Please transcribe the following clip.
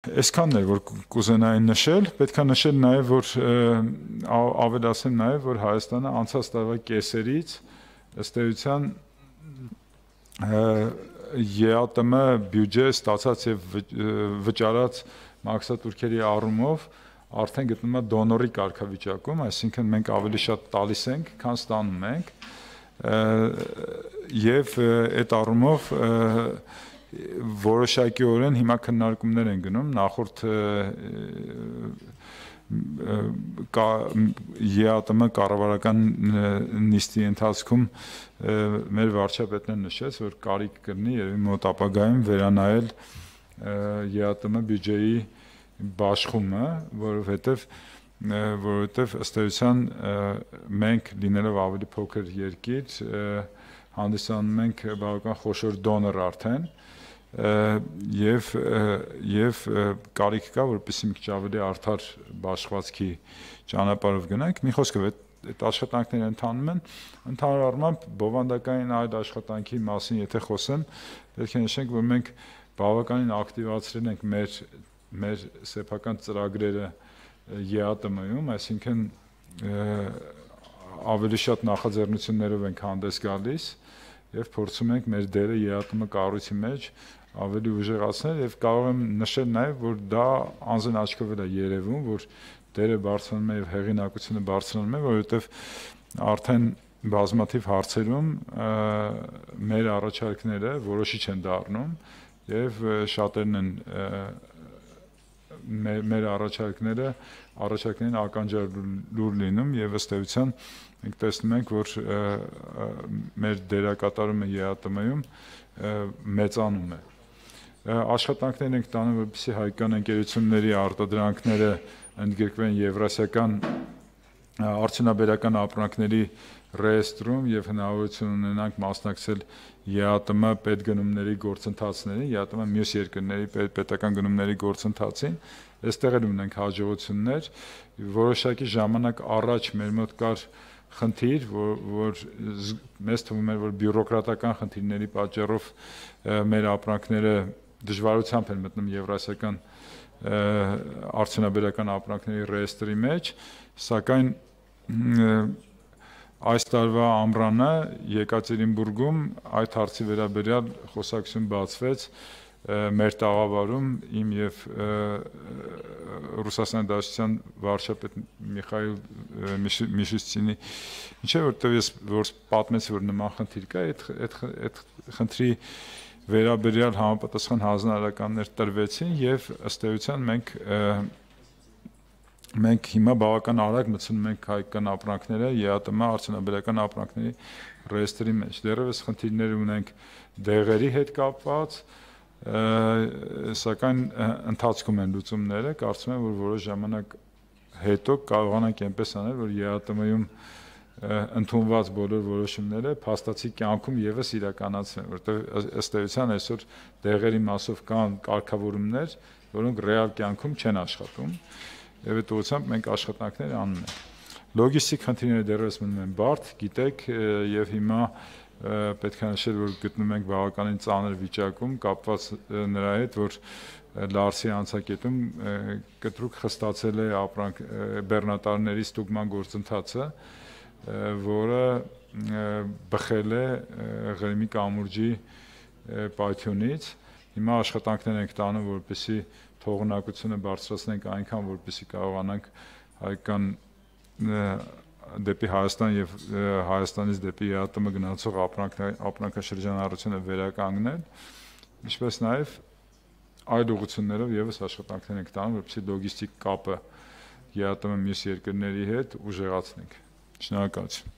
Այսքանն է, որ կուզենայի նշել, պետք է նշել նաև, որ ավելացեմ նաև, որ Հայաստանը անցած տարվա կեսերից ըստ էության ԵԱՏՄ բյուջե ստացած եւ վճարած մաքսատուրքերի առումով արդեն գտնվում է դոնորի կարգավիճակում, այսինքն մենք ավելի շատ տալիս ենք, քան ստանում ենք, եւ այդ առումով որոշակիորեն հիմա քննարկումներ են գնում նախորդ ԵԱՏՄ կառավարական նիստի ընթացքում մեր վարչապետն է նշեց, որ կարիք կլինի երևի մոտ ապագայում վերանայել ԵԱՏՄ բյուջեի բաշխումը, որովհետև ըստ էության մենք լինելով ավելի փոքր երկիր հանդիսանում ենք բավական խոշոր դոնոր արդեն եւ կարիք կա, որպեսզի մի քիչ ավելի արդար բաշխվածքի ճանապարհով գնանք։ Մի խոսքով այդ աշխատանքները ընթանում են, ընդհանուր առմամբ բովանդակային այլ աշխատանքի մասին եթե խոսեմ, պետք է նշենք, որ մենք բավականին ակտիվացրել ենք մեր սեփական ծրագրերը ԵԱՏՄ-ում, այսինքն ավելի շատ նախաձեռնություններով ենք հանդես գալիս եւ փորձում ենք մեր դերը ԵԱՏՄ կառույցի մեջ ավելի ուժեղացնել եւ կարող եմ նշել նաեւ, որ դա անձն աչքով է երևում, որ դերը բարձրանում է եւ հեղինակությունը բարձրանում է, որովհետեւ արդեն բազմաթիվ հարցերում մեր առաջարկները որոշիչ են դառնում եւ շատերն են մեր առաջարկներին ականջալուր լինում եւ ըստ էության մենք տեսնում ենք, որ մեր դերակատարումը ԵԱՏՄ-ում մեծանում է։ Աշխատանքներ ենք տանում, որպեսզի հայկական ընկերությունների արտադրանքները ընդգրկվեն Եվրասիական արդյունաբերական ապրանքների ռեեստրում եւ հնարավորություն ունենանք մասնակցել ԵԱՏՄ պետգնումների գործընթացներին, ԵԱՏՄ մյուս երկրների պետական գնումների գործընթացին, այստեղ էլ ունենք հաջողություններ, որոշակի ժամանակ առաջ մեր մոտ կար խնդիր, որ մեզ թվում էր, որ բյուրոկրատական խնդիրների պատճառով մեր ապրանքները դժվարությամբ են մտնում Եվրասիական արդյունաբերական ապրանքների ռեեստրի մեջ, սակայն այս տարվա ամռանը Եկատերինբուրգում այդ հարցի վերաբերյալ խոսակցություն բացվեց մեր տաղավարում իմ եւ Ռուսաստանի Դաշնության վարչապետ Միխայիլ Միշուստինի, ինչեւ որտեղ ես որ պատմեցի, որ նման խնդիր կա, այդ խնդրի վերաբերյալ համապատասխան հանձնարարականներ տրվեցին եւ ըստ էության մենք հիմա բավական արագ մտցնում ենք հայկական ապրանքները ԵԱՏՄ արդյունաբերական ապրանքների ռեեստրի մեջ։ Դեռևս խնդիրներ ունենք դեղերի հետ կապված, սակայն ընթացքում են լուծումները, կարծում եմ, որ որոշ ժամանակ հետո կարողանանք այնպես անել, որ ԵԱՏՄ-ում ընդունված բոլոր որոշումները փաստացի կյանքում եւս իրականացվեն, որտեղ ըստ էության այսօր դեղերի մասով կան կարգավորումներ, որոնք ռեալ կյանքում չեն աշխատում, եւ այդ ուղղությամբ մենք աշխատանքներ անում ենք։ Լոգիստիկ խնդիրները դեռևս մնում են բարդ, գիտեք, եւ հիմա պետք է նշել, որ գտնում ենք բավականին ծանր վիճակում, կապված նրա հետ, որ Լարսի անցակետում կտրուկ խստացել է բեռնատարների ստուգման գործընթացը, որը բխել է Ղրիմի կամուրջի պայթյունից։ Հիմա աշխատանքներ ենք տանում, որպեսզի թողունակությունը բարձրացնենք այնքան, որպեսզի կարողանանք հայկական դեպի Հայաստան եւ Հայաստանից դեպի ԵԱՏՄ գնացող ապրանքաշրջանառությունը վերականգնել, ինչպես նաեւ այլ ուղղություններով եւս աշխատանքներ ենք տանում, որպեսզի լոգիստիկ կապը ԵԱՏՄ մյուս երկրների հետ ուժեղացնենք։ Շնորհակալություն։